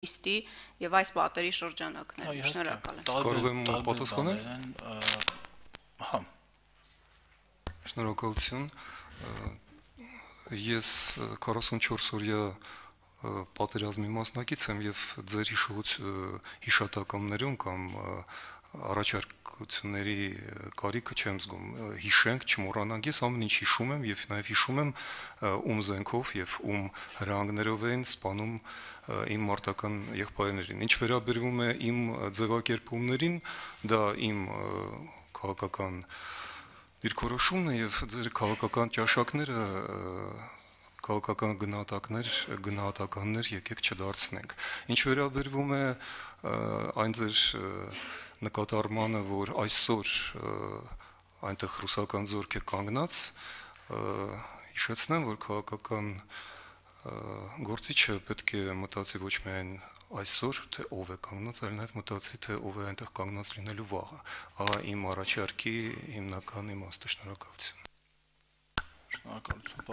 Իստի եւ այս պատերի շրջանակներում շնորհակալ եմ։ Կարող եմ պատասխանել։ Հա։ Շնորհակալություն։ Ես 44 օրյա պատերազմի մասնակից եմ եւ ձեր հիշատակամներում կամ առաջարկությունների կարիքը չեմ զգում։ Հիշենք, չմոռանանք, ես ամեն ինչ հիշում եմ եւ նաեւ հիշում եմ ում զենքով եւ ում հրահանգներով էին սպանում իմ մարտական եղբայրներին։ Ինչ վերաբերվում է իմ ձևակերպումներին, դա իմ քաղաքական դիրքորոշումն է եւ ձեր քաղաքական ճաշակները քաղաքական գնահատականներ եկեք չդարձնենք։ Ինչ վերաբերվում է այն ձեր նկատառմանը, որ այսօր այնտեղ ռուսական զորք է կանգնած, հիշեցնեմ, որ քաղաքական գործիչը պետք է մտածի ոչ միայն այսօր, թե ով է կանգնած, այլ նաև մտածի, թե ով է այնտեղ կանգնած լինելու վաղը։ Ահա իմ առաջարկի հիմնական իմաստը։ Շնորհակալություն։ Շնորհակալություն,